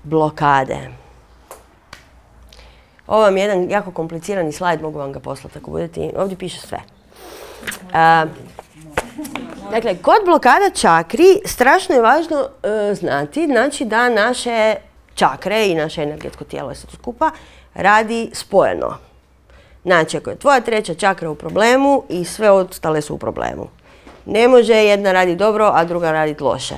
blokade. Ovo vam je jedan jako komplicirani slajd, mogu vam ga poslati ako budete. Ovdje piše sve. Dakle, kod blokada čakri strašno je važno znati, znači da naše čakre i naše energetsko tijelo je sve to skupa radi spojeno. Znači, ako je tvoja treća čakra u problemu i sve ostale su u problemu. Ne može jedna raditi dobro, a druga raditi loše.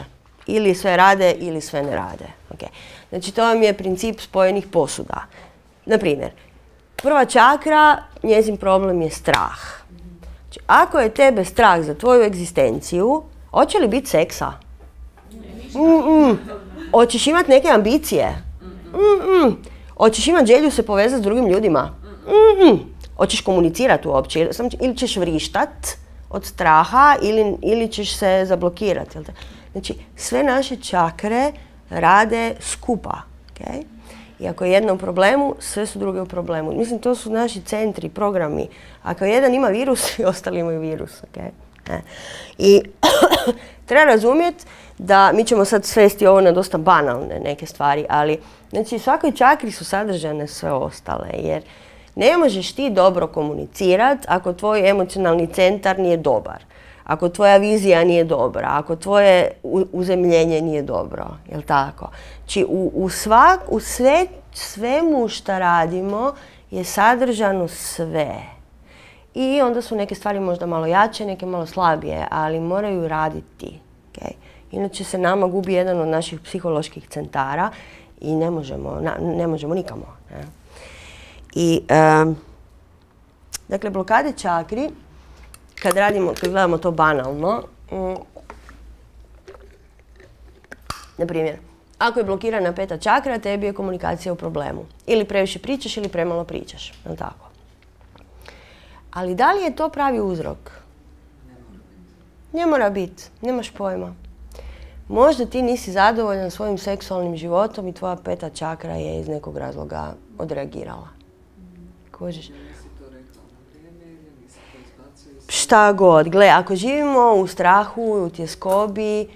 Ili sve rade ili sve ne rade. Okay. Znači, to vam je princip spojenih posuda. Naprimjer, prva čakra, njezin problem je strah. Znači, ako je tebe strah za tvoju egzistenciju, hoće li biti seksa? Hoćeš imati neke ambicije? Hoćeš imati želju se povezati s drugim ljudima? Hoćeš komunicirati uopće? Ili ćeš vrištat od straha ili ćeš se zablokirati. Znači, sve naše čakre rade skupa. Okay? I ako je jedna u problemu, sve su druge u problemu. Mislim, to su naši centri, programi. Ako jedan ima virus, svi ostali imaju virus. Okay? I treba razumjeti da mi ćemo sad svesti ovo na dosta banalne neke stvari, ali znači, u svakoj čakri su sadržane sve ostale, jer ne možeš ti dobro komunicirati ako tvoj emocionalni centar nije dobar, ako tvoja vizija nije dobra, ako tvoje uzemljenje nije dobro, jel tako? Znači, u svemu što radimo je sadržano sve. I onda su neke stvari možda malo jače, neke malo slabije, ali moraju raditi. Okay? Inače se nama gubi jedan od naših psiholoških centara i ne možemo nikamo. Ne? I, dakle, blokade čakri, kad gledamo to banalno, na primjer, ako je blokirana peta čakra, tebi je komunikacija u problemu. Ili previše pričaš ili premalo pričaš. No, tako. Ali da li je to pravi uzrok? Ne mora biti. Nemaš pojma. Možda ti nisi zadovoljan svojim seksualnim životom i tvoja peta čakra je iz nekog razloga odreagirala. Kužiš? Šta god. Gle, ako živimo u strahu, u tjeskobi,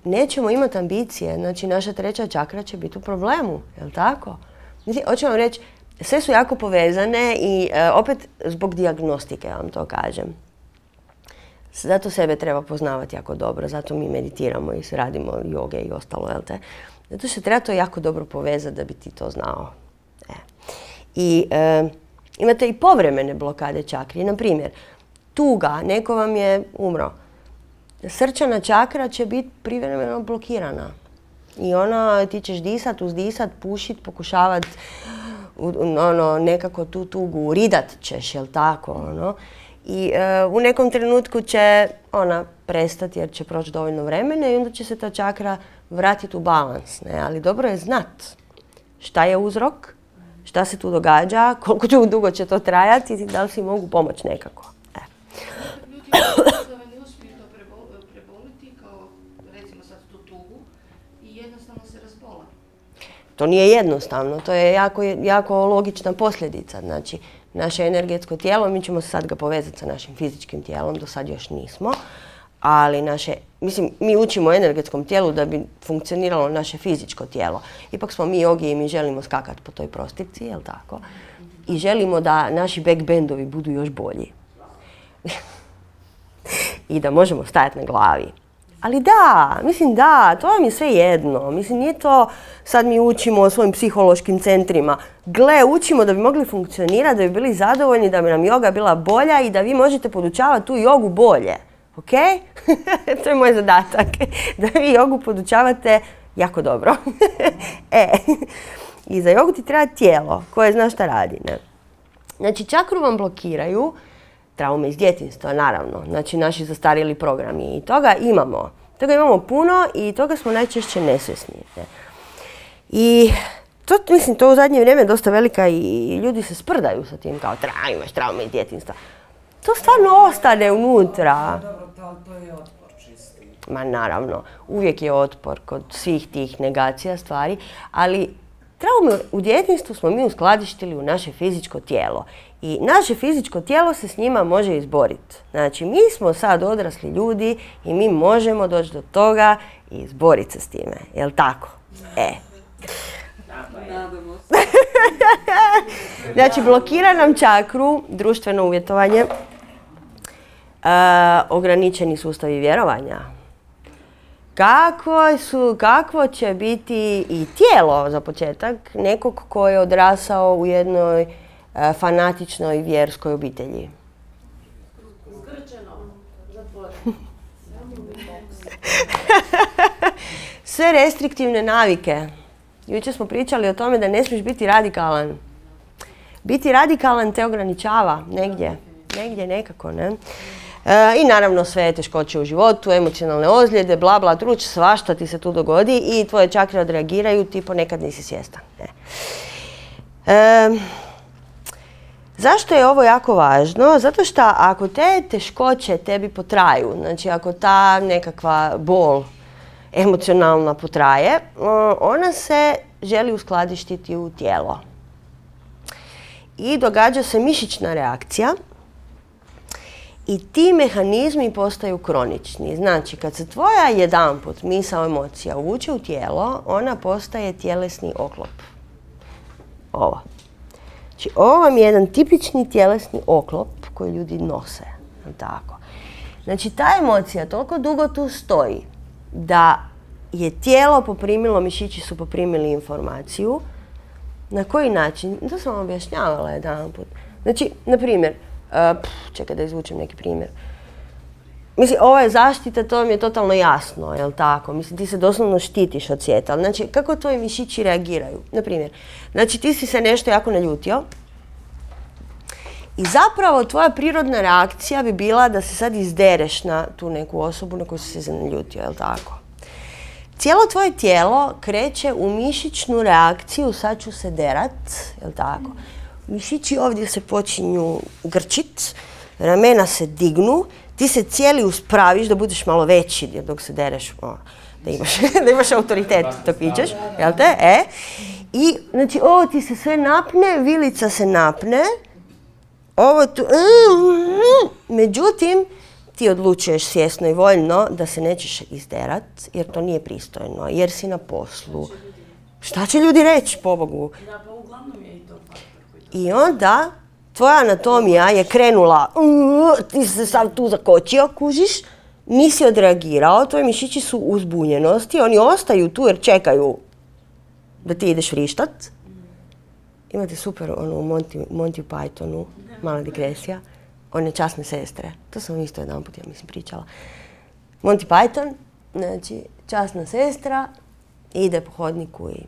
nećemo imati ambicije. Znači, naša treća čakra će biti u problemu. Jel' tako? Hoću vam reći, sve su jako povezane i opet zbog dijagnostike vam to kažem. Zato sebe treba poznavati jako dobro, zato mi meditiramo i radimo joge i ostalo, jel te? Zato što treba to jako dobro povezati da bi ti to znao. I imate i povremene blokade čakri. Na primjer, tuga, neko vam je umro. Srčana čakra će biti privremeno blokirana. I ti ćeš disat, uzdisat, pušit, pokušavat nekako tu tugu, ridat ćeš, jel tako? I u nekom trenutku će ona prestati jer će proći dovoljno vremena i onda će se ta čakra vratiti u balans. Ne? Ali dobro je znat šta je uzrok, šta se tu događa, koliko dugo će to trajati i da li si mogu pomoći nekako. Ljudi ne uspiju to preboliti, kao recimo sad tu tugu, i jednostavno se razbola. To nije jednostavno, to je jako logična posljedica. Znači, naše energetsko tijelo, mi ćemo sad ga povezati sa našim fizičkim tijelom, do sad još nismo, ali mi učimo o energetskom tijelu da bi funkcioniralo naše fizičko tijelo. Ipak smo mi jogi i mi želimo skakati po toj prostirci, jel' tako? I želimo da naši backbendovi budu još bolji. I da možemo stajati na glavi. Ali da, to vam je sve jedno. Mislim, nije to sad mi učimo o svojim psihološkim centrima. Gle, učimo da bi mogli funkcionirati, da bi bili zadovoljni, da bi nam joga bila bolja i da vi možete podučavati tu jogu bolje. Ok? To je moj zadatak. Da vi jogu podučavate jako dobro. I za jogu ti treba tijelo koje zna šta radi. Ne? Znači, čakru vam blokiraju traume iz djetinjstva, naravno. Znači, naši zastarjeli programi. I toga imamo. Toga imamo puno i toga smo najčešće nesvjesni. Ne? I to u zadnje vrijeme je dosta velika i ljudi se sprdaju sa tim kao imaš traume iz djetinjstva. To stvarno ostane unutra. Dobro, to je otpor čisti. Ma naravno, uvijek je otpor kod svih tih negacija stvari, ali traume u djetinjstvu smo mi uskladištili u naše fizičko tijelo. I naše fizičko tijelo se s njima može izboriti. Znači, mi smo sad odrasli ljudi i mi možemo doći do toga i izboriti se s time. Jel' tako? Nadamo se. Znači, blokira nam čakru, društveno uvjetovanje, ograničeni sustavi vjerovanja. Kakvo će biti i tijelo, za početak, nekog ko je odrasao u jednoj fanatičnoj vjerskoj obitelji? Zgrčeno, zatvoreno. Sve restriktivne navike. Jučer smo pričali o tome da ne smiješ biti radikalan. Biti radikalan te ograničava negdje nekako, ne? I naravno sve teškoće u životu, emocionalne ozljede, bla bla, truć, svašta ti se tu dogodi i tvoje čakre odreagiraju, ti ponekad nisi svjestan. Zašto je ovo jako važno? Zato što ako te teškoće tebi potraju, znači ako ta nekakva bol emocionalna potraje, ona se želi uskladištiti u tijelo. I događa se mišićna reakcija i ti mehanizmi postaju kronični. Znači, kad se tvoja jedanput misao, emocija uvuče u tijelo, ona postaje tjelesni oklop. Ovo. Znači, ovo vam je jedan tipični tjelesni oklop koji ljudi nose. Tako. Znači, ta emocija toliko dugo tu stoji da je tijelo poprimilo, mišići su poprimili informaciju. Na koji način? To sam vam objašnjavala jedanput. Znači, na primjer, čekaj da izvučem neki primjer. Mislim, ovo je zaštita, to mi je totalno jasno, jel tako? Mislim, ti se doslovno štitiš od svijeta. Znači, kako tvoji mišići reagiraju? Na primjer, znači ti si se nešto jako naljutio i zapravo tvoja prirodna reakcija bi bila da se sad izdereš na tu neku osobu na koju si se naljutio, jel tako? Cijelo tvoje tijelo kreće u mišićnu reakciju, sad ću se derat, jel tako? Mišići ovdje se počinju grčit, ramena se dignu, ti se cijeli uspraviš da budeš malo veći dok se dereš, da imaš autoritet dok vičeš, jel te? I znači ovo ti se sve napne, vilica se napne, ovo tu, međutim, ti odlučuješ svjesno i voljno da se nećeš izderat, jer to nije pristojno, jer si na poslu. Šta će ljudi reći, pobogu? Da, pa uglavnom je i to faktor koji to... I onda tvoja anatomija je krenula, ti se sad tu zakočio, kužiš, nisi odreagirao, tvoji mišići su u zbunjenosti, oni ostaju tu jer čekaju da ti ideš vrištat. Imate super ono u Monty Pythonu, mala digresija, one časne sestre. To sam isto jedan put, ja mislim, pričala. Monty Python, znači časna sestra, ide po hodniku i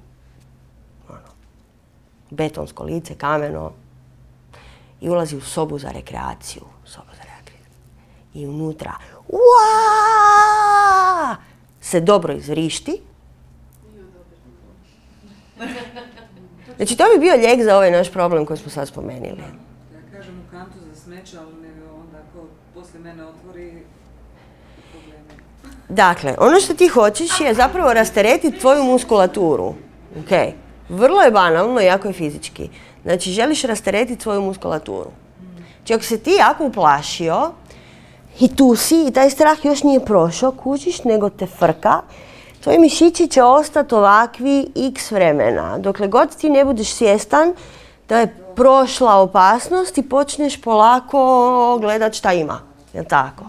betonsko lice, kameno, i ulazi u sobu za rekreaciju. I unutra se dobro izvrišti. Znači, to bi bio lijek za ovaj naš problem koji smo sad spomenuli. Ja kažem u kantu za smeće, ali onda ako poslije mene otvori probleme. Dakle, ono što ti hoćeš je zapravo rasteretiti tvoju muskulaturu. Okay. Vrlo je banalno i jako je fizički. Znači, želiš rasteretiti svoju muskulaturu. Znači, ako se ti jako uplašio i tu si i taj strah još nije prošao, kužiš, nego te frka, tvoji mišići će ostati ovakvi x vremena. Dokle god ti ne budeš svjestan da je prošla opasnost i počneš polako gledat šta ima. Jel' tako?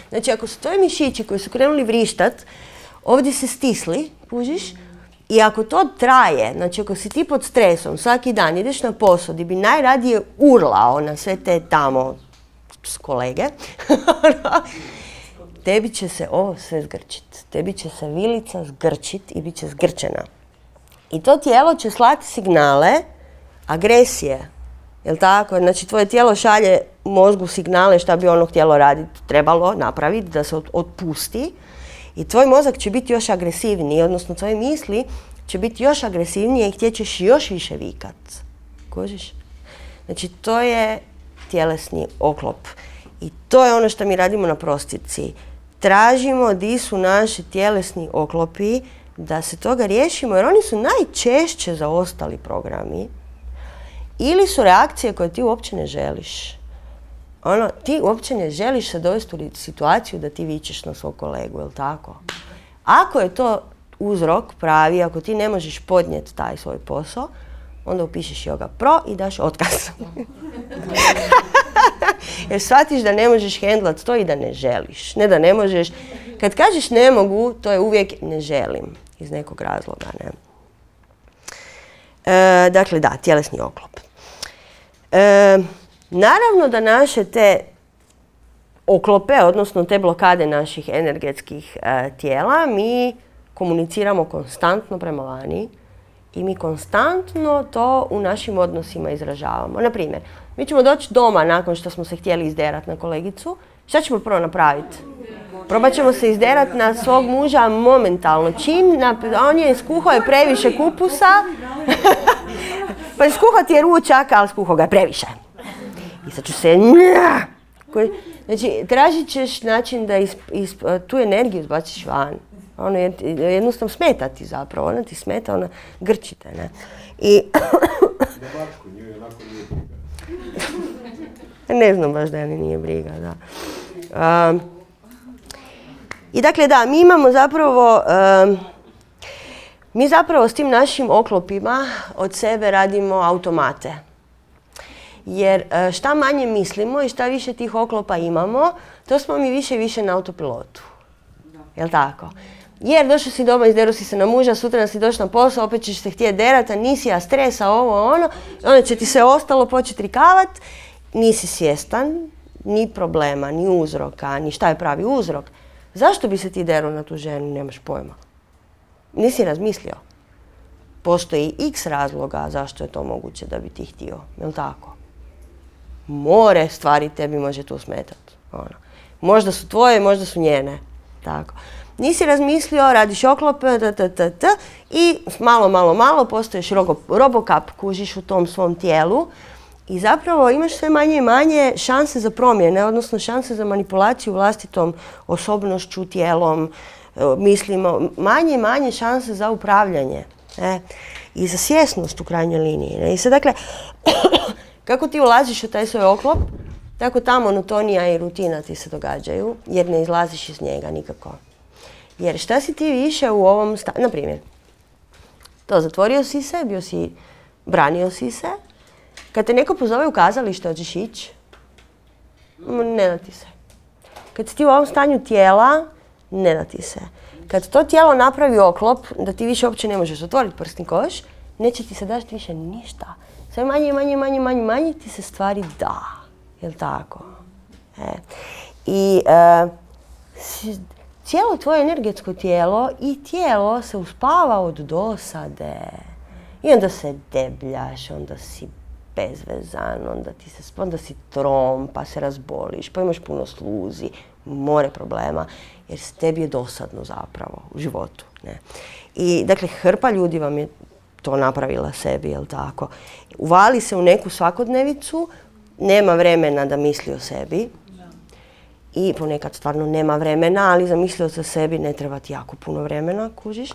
Znači, ako su tvoji mišići koji su krenuli vrištat, ovdje se stisli, kužiš, i ako to traje, znači ako si ti pod stresom, svaki dan ideš na posao gdje bi najradije urlao na sve te tamo kolege, tebi će se ovo sve zgrčit. Tebi će se vilica zgrčit i bit će zgrčena. I to tijelo će slati signale agresije. Jel' tako? Znači tvoje tijelo šalje mozgu signale šta bi ono htjelo raditi, trebalo napraviti, da se otpusti. I tvoj mozak će biti još agresivniji, odnosno tvoje misli će biti još agresivnije i htjećeš još više vikat. Kužiš? Znači, to je tjelesni oklop. I to je ono što mi radimo na prostici. Tražimo di su naši tjelesni oklopi, da se toga riješimo, jer oni su najčešće zaostali programi. Ili su reakcije koje ti uopće ne želiš. Ti uopće ne želiš se dovesti u situaciju da ti vičeš na svog kolegu, jel' tako? Ako je to uzrok pravi, ako ti ne možeš podnijeti taj svoj posao, onda upišeš Yoga Pro i daš otkaz. Jer shvatiš da ne možeš hendlat to i da ne želiš. Ne da ne možeš. Kad kažeš ne mogu, to je uvijek ne želim. Iz nekog razloga, ne. Dakle, da, tjelesni oklop. Naravno da naše te oklope, odnosno te blokade naših energetskih tijela, mi komuniciramo konstantno prema vani i mi konstantno to u našim odnosima izražavamo. Naprimjer, mi ćemo doći doma nakon što smo se htjeli izderati na kolegicu. Šta ćemo prvo napraviti? Probat ćemo se izderati na svog muža momentalno. On je skuhao je previše kupusa. Pa skuhao ti je ručak, ali skuhao ga je previše. I sad ću se... Znači, tražit ćeš način da tu energiju izbaciš van. Ono jednostavno smeta ti zapravo. Ona ti smeta, ona grčite, ne? I... Ne znam baš da je nije briga, da. I dakle, da, mi imamo zapravo... Mi zapravo s tim našim oklopima od sebe radimo automate. Jer šta manje mislimo i šta više tih oklopa imamo, to smo mi više i više na autopilotu. Jel' tako? Jer došao si doma, izderu si se na muža, sutra si došao na posao, opet ćeš se htjeti derati, a nisi, a stresa, ovo, ono. Onda će ti se ostalo početi rikavat, nisi svjestan ni problema, ni uzroka, ni šta je pravi uzrok. Zašto bi se ti deru na tu ženu, nemaš pojma. Nisi razmislio. Postoji x razloga zašto je to moguće da bi ti htio, jel' tako? More stvari tebi može tu smetati. Možda su tvoje, možda su njene. Tako. Nisi razmislio, radiš oklop, i malo postoješ robokap, kužiš u tom svom tijelu i zapravo imaš sve manje i manje šanse za promjene, odnosno šanse za manipulaciju vlastitom osobnošću, tijelom, mislimo, manje i manje šanse za upravljanje. I za svjesnost u krajnjoj liniji. I sad, dakle, kako ti ulaziš u taj svoj oklop, tako ta monotonija i rutina ti se događaju, jer ne izlaziš iz njega nikako. Jer šta si ti više u ovom stanju, na primjer, to zatvorio si se, branio si se, kad te neko pozove u kazalište, hoćeš ići, ne da ti se. Kad si ti u ovom stanju tijela, ne da ti se. Kad to tijelo napravi oklop, da ti više uopće ne možeš otvoriti prsni koš, neće ti se daći više ništa. Sve manje ti se stvari da. Jel' tako? I cijelo tvoje energetsko tijelo i tijelo se uspava od dosade. I onda se debljaš, onda si bezvezan, onda si trom, pa se razboliš, pa imaš puno sluzi, more problema, jer tebi je dosadno zapravo u životu. Ne? I dakle, hrpa ljudi vam je to napravila sebi, jel' tako? Uvali se u neku svakodnevicu, nema vremena da misli o sebi. I ponekad stvarno nema vremena, ali za misli o sebi ne treba ti jako puno vremena, kužiš.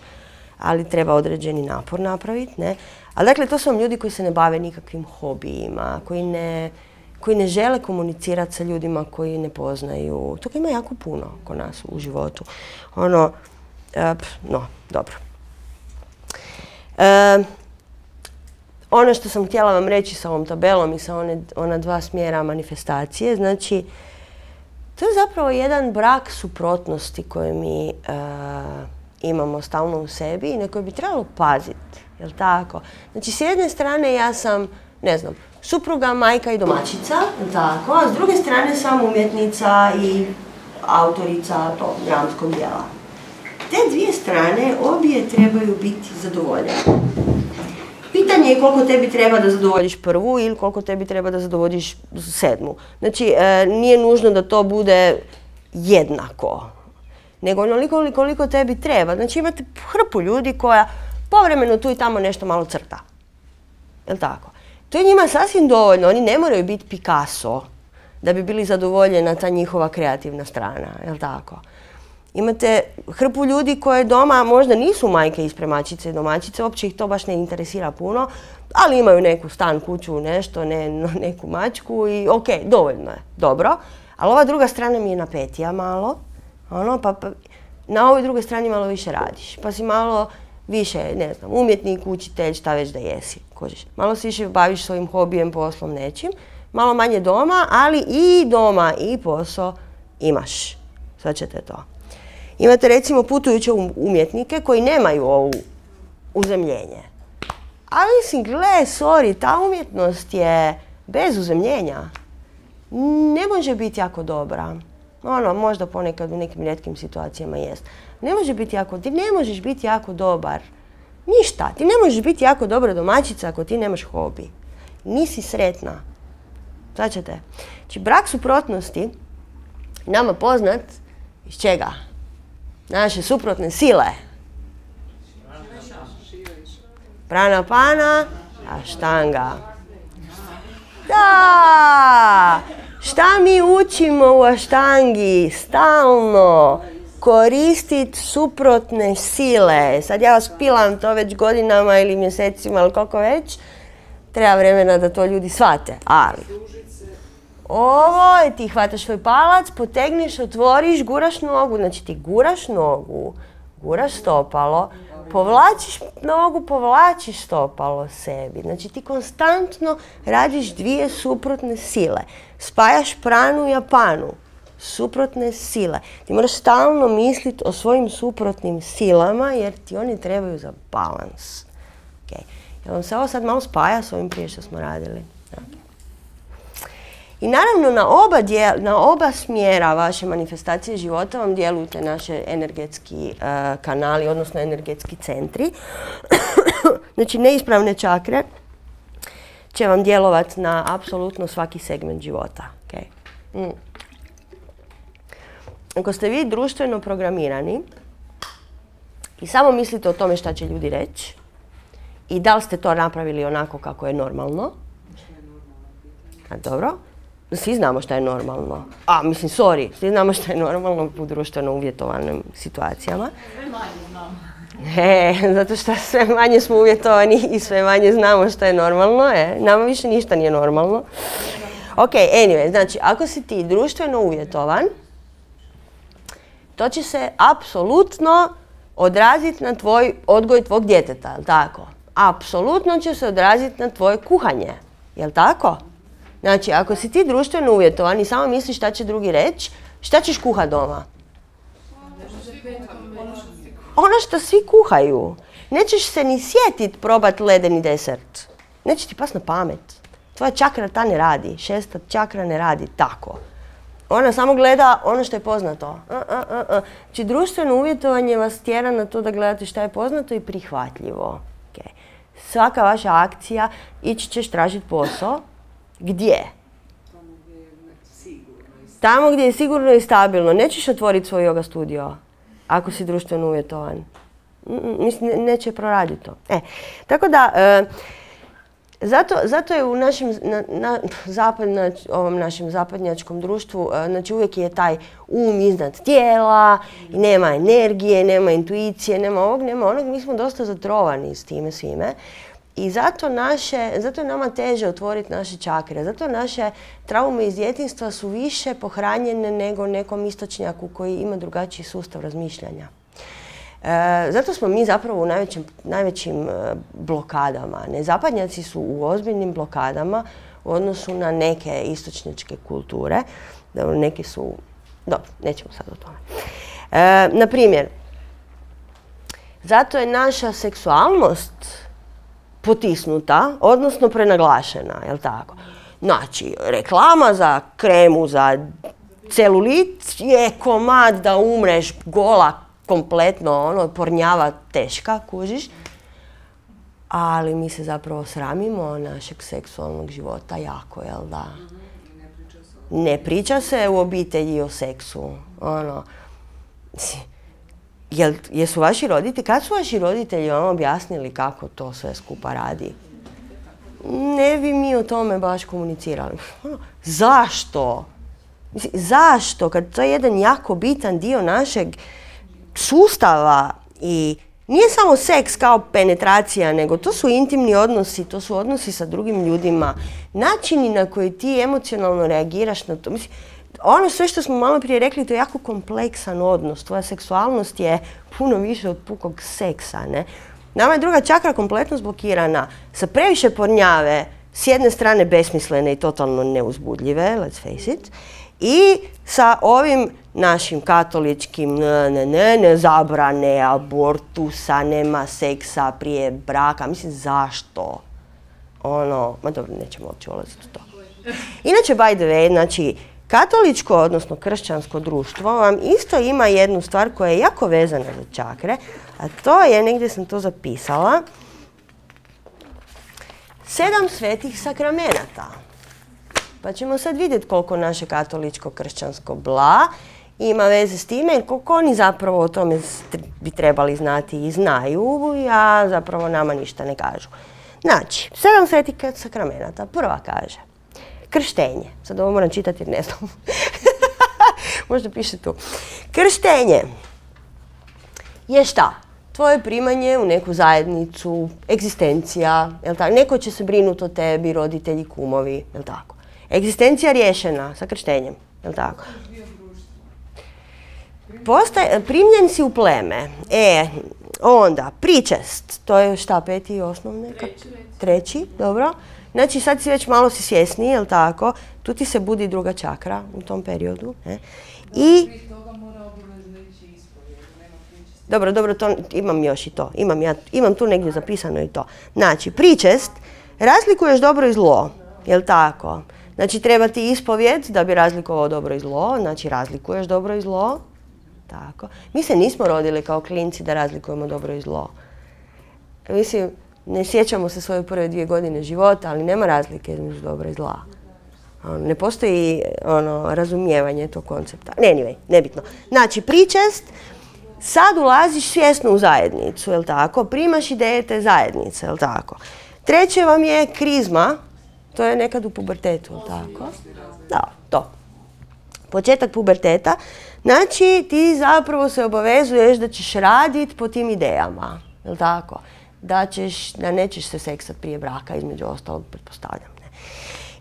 Ali treba određeni napor napraviti, ne? Ali dakle, to su vam ljudi koji se ne bave nikakvim hobijima, koji ne žele komunicirati sa ljudima koji ne poznaju. Toga ima jako puno kod nas u životu. Dobro. Ono što sam htjela vam reći sa ovom tabelom i sa ona dva smjera manifestacije, znači, to je zapravo jedan brak suprotnosti koje mi imamo stalno u sebi i na koje bi trebalo paziti, jel' tako? Znači, s jedne strane ja sam, ne znam, supruga, majka i domaćica, jel' tako? A s druge strane sam umjetnica i autorica tog dramskog djela. Te dvije strane obje trebaju biti zadovoljene. Pitanje je koliko tebi treba da zadovoljiš prvu ili koliko tebi treba da zadovoljiš sedmu. Znači, nije nužno da to bude jednako, nego onoliko koliko tebi treba. Znači, imate hrpu ljudi koja povremeno tu i tamo nešto malo crta. Jel' tako? To je njima sasvim dovoljno. Oni ne moraju biti Picasso da bi bili zadovoljena ta njihova kreativna strana. Jel' tako? Imate hrpu ljudi koje doma možda nisu majke i spremačice i domaćice, uopće ih to baš ne interesira puno, ali imaju neku stan, kuću, nešto, neku mačku i ok, dovoljno je, dobro. Ali ova druga strana mi je napetija malo, na ovoj drugoj strani malo više radiš, pa si malo više, ne znam, umjetnik, učitelj, šta već da jesi, kužiš. Malo se više baviš svojim hobijem, poslom, nečim, malo manje doma, ali i doma i posao imaš. Sad ćete to. Imate recimo putujuće umjetnike koji nemaju ovo uzemljenje. Ali mislim, gle, sorry, ta umjetnost je bez uzemljenja. Ne može biti jako dobra. Ono, možda ponekad u nekim rijetkim situacijama jest. Ne može biti jako, ti ne možeš biti jako dobar. Ništa, ti ne možeš biti jako dobra domaćica ako ti nemaš hobi. Nisi sretna. Sad ćete. Znači, brak suprotnosti, nama poznat iz čega? Naše suprotne sile. Prana pana, aštanga. Da! Šta mi učimo u aštangi? Stalno koristiti suprotne sile. Sad ja vas pilam to već godinama ili mjesecima ili koliko već. Treba vremena da to ljudi shvate, ali ovo je ti hvataš svoj palac, potegneš, otvoriš, guraš nogu, znači ti guraš nogu, guraš stopalo, povlačiš nogu, povlačiš stopalo sebi. Znači ti konstantno radiš dvije suprotne sile. Spajaš pranu i apanu. Suprotne sile. Ti moraš stalno misliti o svojim suprotnim silama jer ti oni trebaju za balans. Okay. Jel vam se ovo sad malo spaja s ovim prije što smo radili? Okay. I naravno na oba smjera vaše manifestacije života vam djelujete naše energetski kanali, odnosno energetski centri. Znači neispravne čakre će vam djelovati na apsolutno svaki segment života. Okay. Ako ste vi društveno programirani i samo mislite o tome šta će ljudi reći i da li ste to napravili onako kako je normalno, dobro, svi znamo šta je normalno. Mislim, sorry, svi znamo šta je normalno u društveno uvjetovanim situacijama. Sve manje znamo. Zato što sve manje smo uvjetovani i sve manje znamo šta je normalno. Nama više ništa nije normalno. Ok, anyway, znači, ako si ti društveno uvjetovan, to će se apsolutno odraziti na tvoj odgoj tvog djeteta, jel' tako? Apsolutno će se odraziti na tvoje kuhanje, jel' tako? Znači, ako si ti društveno uvjetovan i samo misliš šta će drugi reći, šta ćeš kuhati doma? Ono što svi kuhaju. Nećeš se ni sjetiti probati ledeni desert. Neće ti pas na pamet. Tvoja čakra ta ne radi, 6. čakra ne radi tako. Ona samo gleda ono što je poznato. Znači, društveno uvjetovanje vas tjera na to da gledate šta je poznato i prihvatljivo. Okay. Svaka vaša akcija, ići ćeš tražiti posao. Gdje? Tamo gdje je sigurno i stabilno. Nećeš otvoriti svoj yoga studio ako si društveno uvjetovan. Mislim, neće proraditi to. Tako da, zato je u ovom našem zapadnjačkom društvu, znači uvijek je taj um iznad tijela, i nema energije, nema intuicije, nema ovog, nema onog. Mi smo dosta zatrovani s time svime. I zato je nama teže otvoriti naše čakre. Zato naše traume iz djetinjstva su više pohranjene nego nekom istočnjaku koji ima drugačiji sustav razmišljanja. Zato smo mi zapravo u najvećim blokadama. Nezapadnjaci su u ozbiljnim blokadama u odnosu na neke istočnjačke kulture. Neke su... Dobro, nećemo sad o tome. Na primjer, zato je naša seksualnost potisnuta, odnosno prenaglašena, jel' tako? Znači, reklama za kremu za celulit je komad da umreš gola, kompletno, pornjava, teška, kužiš. Ali mi se zapravo sramimo našeg seksualnog života jako, jel' da? Ne priča se u obitelji o seksu, Jesu vaši roditelji, kad su vaši roditelji vam objasnili kako to sve skupa radi? Ne bi mi o tome baš komunicirali. Zašto? Zašto? Kad to je jedan jako bitan dio našeg sustava i nije samo seks kao penetracija, nego to su intimni odnosi, to su odnosi sa drugim ljudima, načini na koji ti emocionalno reagiraš na to. Mislim, ono sve što smo malo prije rekli, to je jako kompleksan odnos. Tvoja seksualnost je puno više od pukog seksa, ne? Nama je druga čakra kompletno zblokirana sa previše pornjave, s jedne strane besmislene i totalno neuzbudljive, let's face it, i sa ovim našim katoličkim ne zabrane, abortusa, nema seksa prije braka. Mislim, zašto? Ma dobro, nećemo uopće ulaziti u to. Inače, by the way, znači, katoličko, odnosno kršćansko društvo vam isto ima jednu stvar koja je jako vezana za čakre, a to je, negdje sam to zapisala, 7 svetih sakramenata. Pa ćemo sad vidjeti koliko naše katoličko kršćansko bla ima veze s time, jer koliko oni zapravo o tome bi trebali znati i znaju, a zapravo nama ništa ne kažu. Znači, 7 svetih sakramenata. Prva kaže, krštenje. Sad ovo moram čitati jer ne znam. Možda piše tu. Krštenje je šta? Tvoje primanje u neku zajednicu, egzistencija, jel tako? Neko će se brinuti o tebi, roditelji, kumovi, jel tako? Egzistencija riješena sa krštenjem, jel tako? Primljen si u pleme. Onda, pričest, to je šta, 5. osnovne? Treći, dobro. Znači sad si već malo si svjesniji, jel tako? Tu ti se budi druga čakra u tom periodu. I... Dobro, to, imam još i to. Imam tu negdje zapisano i to. Znači, pričest, razlikuješ dobro i zlo, jel tako? Znači, treba ti ispovjed da bi razlikovao dobro i zlo, znači razlikuješ dobro i zlo. Tako. Mi se nismo rodili kao klinci da razlikujemo dobro i zlo. Mislim, ne sjećamo se svoje prve 2 godine života, ali nema razlike između dobra i zla. Ne postoji razumijevanje tog koncepta. Anyway, nebitno. Znači, pričest, sad ulaziš svjesno u zajednicu, jel tako? Primaš ideje te zajednice, jel tako? Treće vam je krizma, to je nekad u pubertetu, jel tako? Da, to. Početak puberteta. Znači, ti zapravo se obavezuješ da ćeš raditi po tim idejama, jel tako? Da nećeš se seksat prije braka, između ostalog, pretpostavljam. Ne?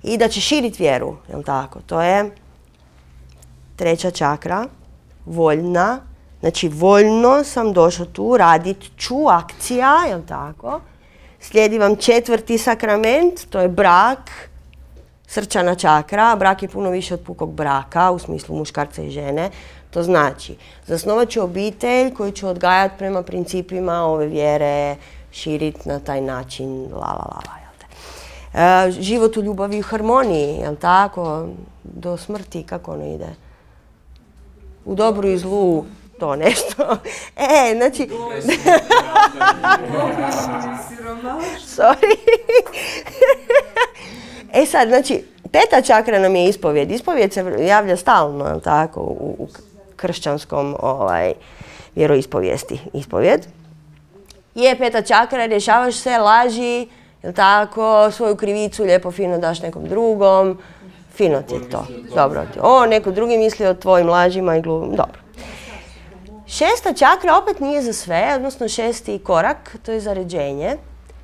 I da ćeš širiti vjeru, jel tako? To je treća čakra, voljna. Znači, voljno sam došao tu, radit ću, akcija, jel tako? Slijedi vam 4. sakrament, to je brak, srčana čakra. Brak je puno više od pukog braka, u smislu muškarca i žene. To znači, zasnovat ću obitelj koju ću odgajati prema principima ove vjere, širiti na taj način, život u ljubavi i harmoniji, jel tako? Do smrti, kako ono ide? U dobru i zlu, to nešto. Znači... Sorry. Sad, znači, 5. čakra nam je ispovjed. Ispovjed se javlja stalno, jel tako, u kršćanskom vjeroispovijesti. Ispovjed. Je 5. čakra, rješavaš se, laži, jel tako, svoju krivicu lijepo fino daš nekom drugom. Fino ti je to. Dobro. Neko drugi misli o tvojim lažima i glumom. Dobro. 6. čakra opet nije za sve, odnosno 6. korak, to je zaređenje.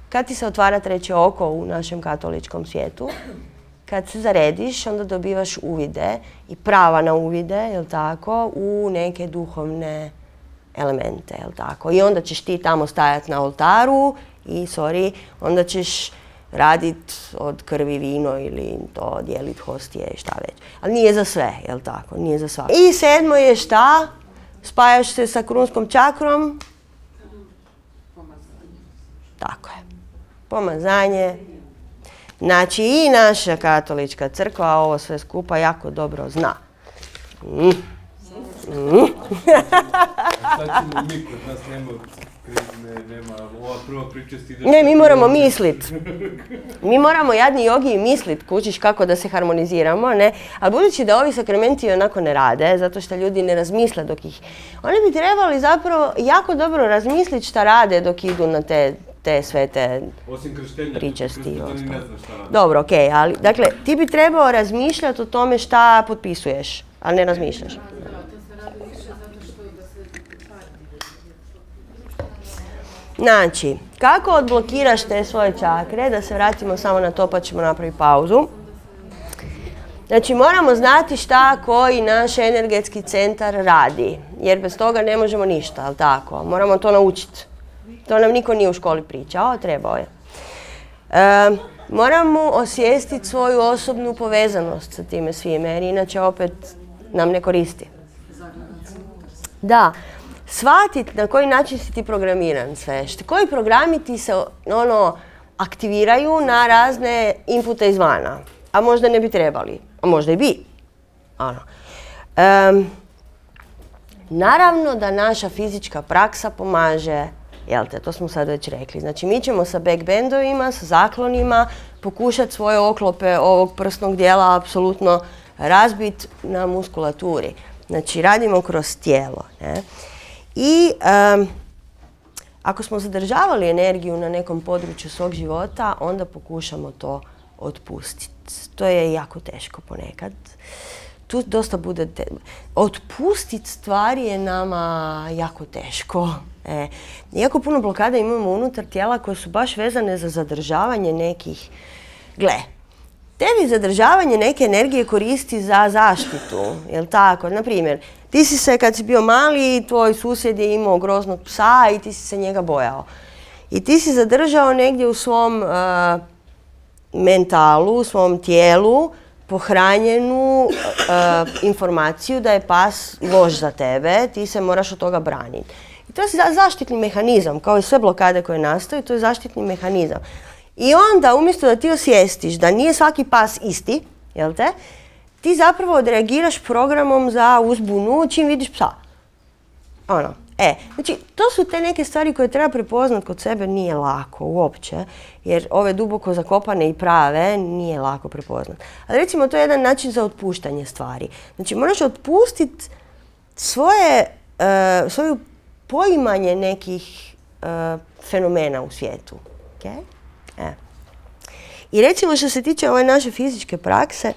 Kad ti se otvara 3. oko u našem katoličkom svijetu, kad se zarediš, onda dobivaš uvide i prava na uvide, jel tako, u neke duhovne elemente, jel tako. I onda ćeš ti tamo stajati na oltaru i, onda ćeš raditi od krvi vino ili to dijeliti hostije i šta već. Ali nije za sve, jel tako, nije za svako. I 7. je šta? Spajaš se sa krunskom čakrom. Tako je. Pomazanje. Znači i naša katolička crkva ovo sve skupa jako dobro zna. Sad ćemo mi kod nas nema ova prva pričest ide... Ne, mi moramo mislit. Mi moramo jadni jogi mislit, kućiš kako da se harmoniziramo, ne? Ali budući da ovi sakramenti onako ne rade, zato što ljudi ne razmisle dok ih... Oni bi trebali zapravo jako dobro razmisliti šta rade dok idu na te svete pričesti. Dobro, okej, ali dakle, ti bi trebao razmišljati o tome šta potpisuješ, ali ne razmišljaš. Znači, kako odblokiraš te svoje čakre, da se vratimo samo na to pa ćemo napraviti pauzu. Znači moramo znati šta koji naš energetski centar radi, jer bez toga ne možemo ništa, ali tako? Moramo to naučiti. To nam niko nije u školi pričao, trebao je. Moramo osvijestiti svoju osobnu povezanost sa time svime, jer inače opet nam ne koristi. Da, shvatiti na koji način si ti programiran sve. Koji programi ti se aktiviraju na razne inpute izvana, a možda ne bi trebali, a možda i bi. Naravno da naša fizička praksa pomaže, jel te, to smo sad već rekli. Znači mi ćemo sa backbendovima, sa zaklonima pokušati svoje oklope ovog prsnog dijela apsolutno razbiti na muskulaturi. Znači radimo kroz tijelo. Ne? I ako smo zadržavali energiju na nekom području svog života, onda pokušamo to otpustiti. To je jako teško ponekad. Tu dosta bude... Otpustiti stvari je nama jako teško. Jako puno blokada imamo unutar tijela koje su baš vezane za zadržavanje nekih... Gle, tebi zadržavanje neke energije koristi za zaštitu, jel tako? Naprimjer, ti si se kad si bio mali, tvoj susjed je imao groznog psa i ti si se njega bojao. I ti si zadržao negdje u svom mentalu, u svom tijelu, pohranjenu informaciju da je pas loš za tebe, ti se moraš od toga braniti. I to je zaštitni mehanizam, kao i sve blokade koje nastaju, to je zaštitni mehanizam. I onda, umjesto da ti osvijestiš da nije svaki pas isti, jel te, ti zapravo odreagiraš programom za uzbunu čim vidiš psa. Znači, to su te neke stvari koje treba prepoznat kod sebe, nije lako uopće, jer ove duboko zakopane i prave nije lako prepoznat. Ali recimo, to je jedan način za otpuštanje stvari. Znači, moraš otpustiti svoju poimanje nekih fenomena u svijetu. Okay? I recimo što se tiče ove naše fizičke prakse,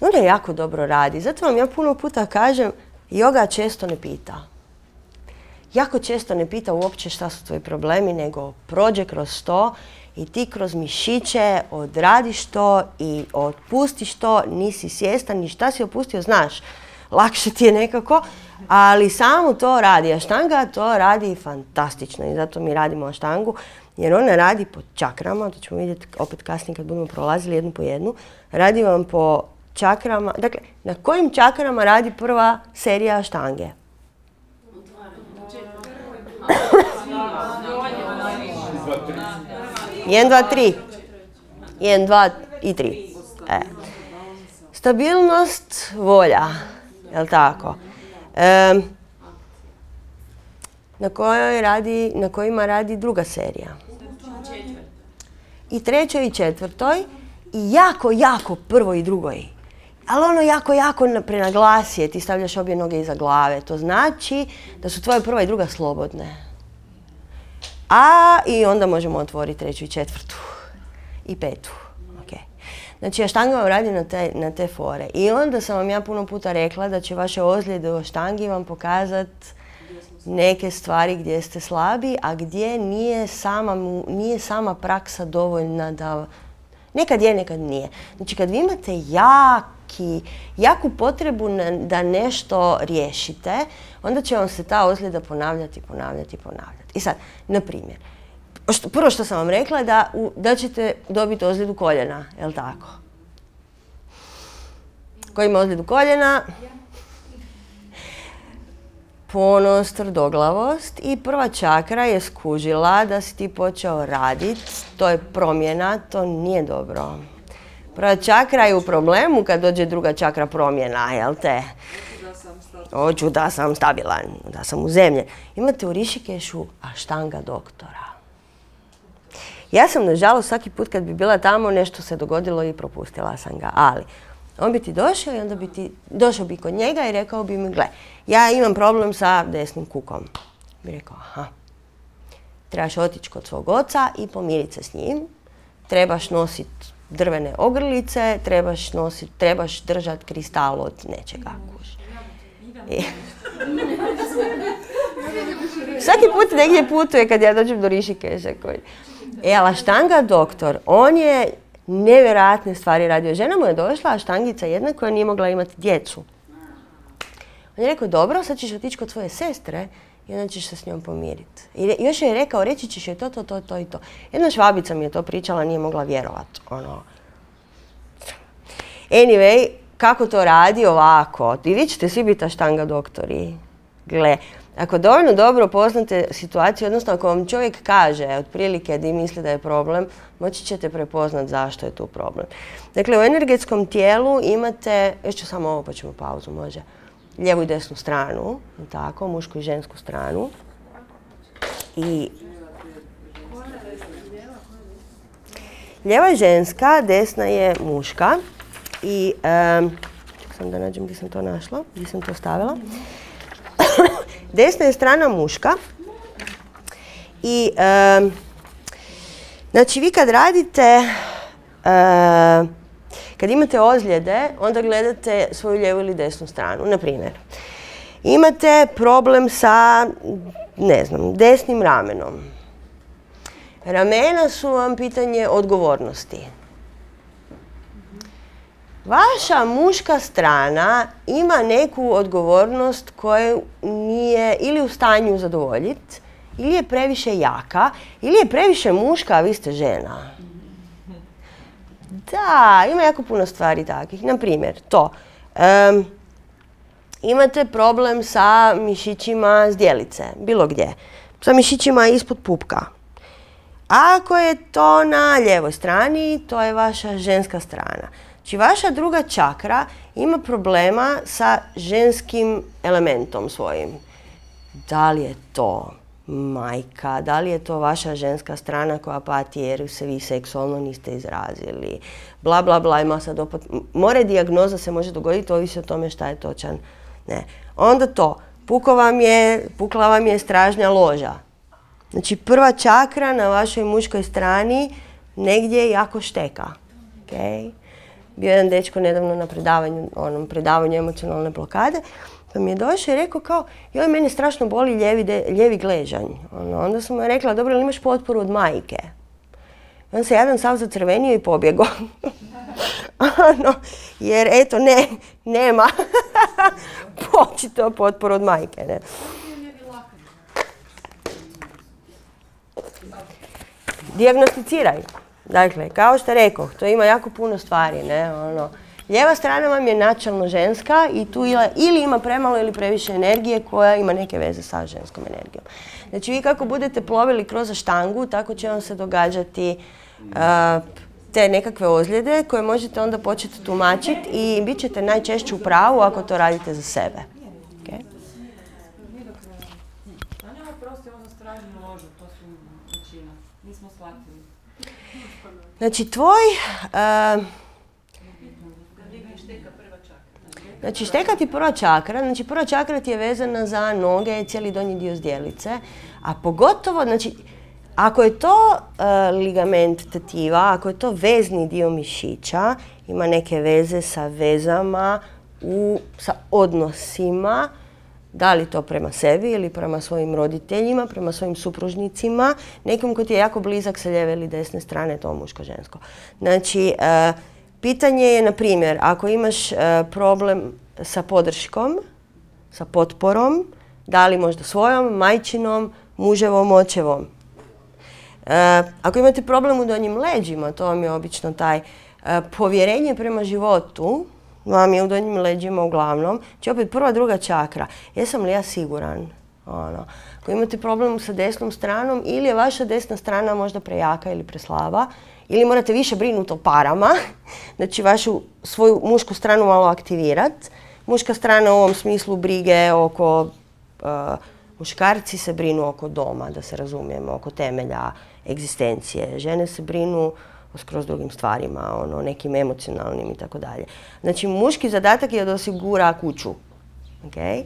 ona jako dobro radi. Zato vam ja puno puta kažem, joga često ne pita. Jako često ne pita uopće šta su tvoji problemi, nego prođe kroz to i ti kroz mišiće odradiš to i otpustiš to, nisi svjestan ni šta si opustio, znaš. Lakše ti je nekako, ali samo to radi. Aštanga to radi fantastično i zato mi radimo aštangu, jer ona radi po čakrama, to ćemo vidjeti opet kasnije kad budemo prolazili jednu po jednu. Radi vam po čakrama, dakle, na kojim čakrama radi prva serija aštange? 1, 2, 3. 1, 2 i 3. Stabilnost, volja. Jel' tako? Na kojima radi druga serija? I trećoj i četvrtoj. I jako prvoj i drugoj. Ali jako prenaglasije, ti stavljaš obje noge iza glave. To znači da su tvoje prva i druga slobodne. I onda možemo otvoriti treću i četvrtu. I petu. Znači, aštanga vam radi na te fore. I onda sam vam ja puno puta rekla da će vaše ozljede u aštangi vam pokazati neke stvari gdje ste slabi, a gdje nije sama praksa dovoljna da... Nekad je, nekad nije. Znači, kad vi imate jaku potrebu da nešto riješite, onda će vam se ta ozljeda ponavljati. I sad, na primjer, prvo što sam vam rekla je da ćete dobiti ozljedu koljena, jel' tako? Ko ima ozljedu koljena? Ponos, tvrdoglavost i prva čakra je skužila da si ti počeo raditi. To je promjena, to nije dobro. Prva čakra je u problemu kad dođe druga čakra promjena, jel te? Hoću da sam stabilan, da sam u zemlji. Imate u Rišikešu aštanga doktora. Ja sam, nažalost, svaki put kad bi bila tamo, nešto se dogodilo i propustila sam ga. Ali, on bi ti došao i onda došao bi kod njega i rekao bi mi, gle, ja imam problem sa desnim kukom. Bi rekao, trebaš otići kod svog oca i pomiriti se s njim. Trebaš nositi drvene ogrlice, trebaš držati kristal od nečega. Svaki put negdje putuje kad ja dođem do Rišikeša. Ali aštanga doktor, on je nevjerojatne stvari radio. Žena mu je došla, štangica jedna koja nije mogla imati djecu. On je rekao, dobro, sad ćeš otići kod svoje sestre i onda ćeš se s njom pomiriti. I još je rekao, reći ćeš joj to i to. Jedna Švabica mi je to pričala, nije mogla vjerovati. Anyway, kako to radi ovako? I vi ćete svi biti štanga doktori. Gle, ako dovoljno dobro poznate situaciju, odnosno ako vam čovjek kaže otprilike da misli da je problem, moći ćete prepoznat zašto je tu problem. Dakle, u energetskom tijelu imate, još ću samo ovo pa ćemo pauzu, može, lijevu i desnu stranu, tako, mušku i žensku stranu. I lijeva je ženska, desna je muška. I, ček sam da nađem gdje sam to našla, gdje sam to stavila. Desna je strana muška. I, znači vi kad radite, kad imate ozljede, onda gledate svoju lijevu ili desnu stranu. Na primjer, imate problem sa, ne znam, desnim ramenom. Ramena su vam pitanje odgovornosti. Vaša muška strana ima neku odgovornost koju nije ili u stanju zadovoljiti, ili je previše jaka, ili je previše muška, a vi ste žena. Da, ima jako puno stvari takvih. Na primjer, to. Imate problem sa mišićima zdjelice, bilo gdje. Sa mišićima ispod pupka. Ako je to na lijevoj strani, to je vaša ženska strana. Znači, vaša druga čakra ima problema sa ženskim elementom svojim. Da li je to majka, da li je to vaša ženska strana koja pati jer se vi seksualno niste izrazili, bla bla bla, ima sad opet, more dijagnoza se može dogoditi, ovisi o tome šta je točan. Ne. Onda to, pukla vam je stražnja loža. Znači, prva čakra na vašoj muškoj strani negdje jako šteka. Okay? Bio jedan dečko nedavno na predavanju emocionalne blokade, pa mi je došao i rekao kao, joj, mene strašno boli lijevi gležanj. Onda sam mu rekla, dobro, li imaš potporu od majke? On se jadan sav zacrvenio i pobjegao. Jer eto, nema. Počito potporu od majke, ne. Dijagnosticiraj. Dakle, kao što rekoh, to ima jako puno stvari, ne, Lijeva strana vam je načelno ženska i tu ili ima premalo ili previše energije koja ima neke veze sa ženskom energijom. Znači, vi kako budete plovili kroz štangu, tako će vam se događati te nekakve ozljede koje možete onda početi tumačiti i bit ćete najčešće u pravu ako to radite za sebe. Okay? Znači, znači, šteka ti prva čakra. Znači, prva čakra ti je vezana za noge, cijeli donji dio zdjelice. A pogotovo, znači, ako je to ligament tetiva, ako je to vezni dio mišića, ima neke veze sa vezama, sa odnosima, da li to prema sebi ili prema svojim roditeljima, prema svojim supružnicima, nekom ko ti je jako blizak sa lijeve ili desne strane, to muško-žensko. Znači, pitanje je, na primjer, ako imaš problem sa podrškom, sa potporom, da li možda svojom, majčinom, muževom, očevom. Ako imate problem u donjim leđima, to vam je obično taj povjerenje prema životu, vam je u donjim leđima uglavnom, znači opet prva, druga čakra. Jesam li ja siguran? Ako imate problem sa desnom stranom, ili je vaša desna strana možda prejaka ili preslaba, ili morate više brinuti o parama, znači svoju mušku stranu malo aktivirati. Muška strana u ovom smislu brige oko, muškarci se brinu oko doma, da se razumijemo, oko temelja egzistencije. Žene se brinu o skroz drugim stvarima, nekim emocionalnim i tako dalje. Znači, muški zadatak je da osigura kuću, okay?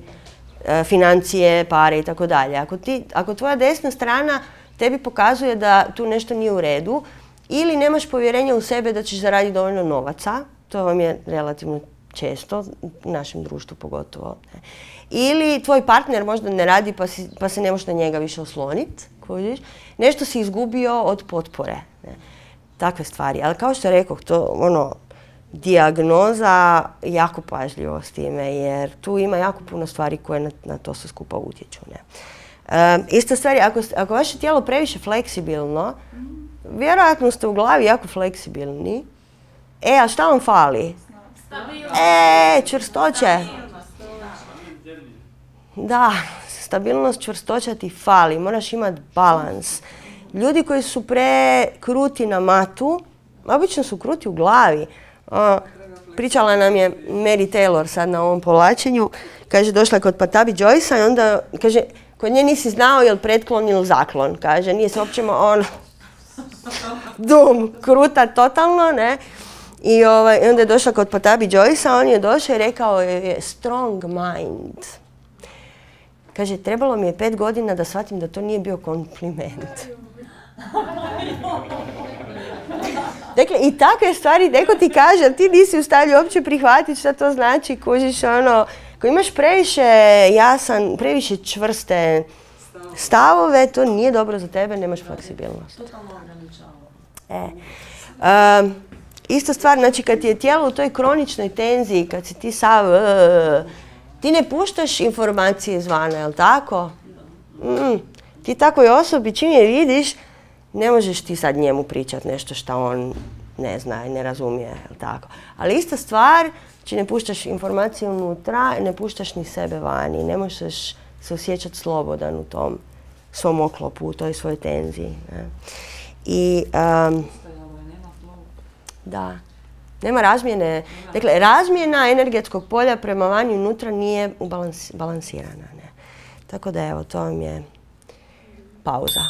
Financije, pare i tako dalje. Ako tvoja desna strana tebi pokazuje da tu nešto nije u redu, ili nemaš povjerenja u sebe da ćeš zaraditi dovoljno novaca, to vam je relativno često, u našem društvu pogotovo. Ili tvoj partner možda ne radi pa se ne možeš na njega više osloniti, nešto si izgubio od potpore. takve stvari. Ali kao što rekoh, to ono, dijagnoza, jako pažljivo s time, jer tu ima jako puno stvari koje na to sve skupa utječu. Ne? Ista stvar je, ako vaše tijelo previše fleksibilno, vjerojatno ste u glavi jako fleksibilni. A šta vam fali? Čvrstoće. Da, stabilnost, čvrstoća ti fali. Moraš imati balans. Ljudi koji su prekruti na matu, obično su kruti u glavi. Pričala nam je Mary Taylor sad na ovom povlačenju. Kaže, došla je kod Patabi Joyce-a i onda, kaže, kod nje nisi znao je li pretklon ili zaklon. Kaže, nije se uopće kruta totalno, ne. I onda je došla kod Patabi Joyce-a, on je došao i rekao je strong mind. Kaže, trebalo mi je 5 godina da shvatim da to nije bio kompliment. Dakle, i takve stvari, neko ti kaže, ali ti nisi u stanju uopće prihvatiti šta to znači, kužiš ono, ako imaš previše čvrste stavove, to nije dobro za tebe, nemaš fleksibilnost. Totalno ograničava. Ista stvar, znači kad ti je tijelo u toj kroničnoj tenziji, kad si ti ti ne puštaš informacije izvana, jel tako? Ti takvoj osobi, čim je vidiš, ne možeš ti sad njemu pričati nešto što on ne zna i ne razumije, jel tako? Ali ista stvar, znači ne puštaš informacije unutra, ne puštaš ni sebe vani, ne možeš se osjećati slobodan u tom svom oklopu, u toj svojoj tenziji. Ne? I da, nema razmjene. Dakle, razmjena energetskog polja prema vani unutra nije balansirana. Ne? Tako da evo, to vam je pauza.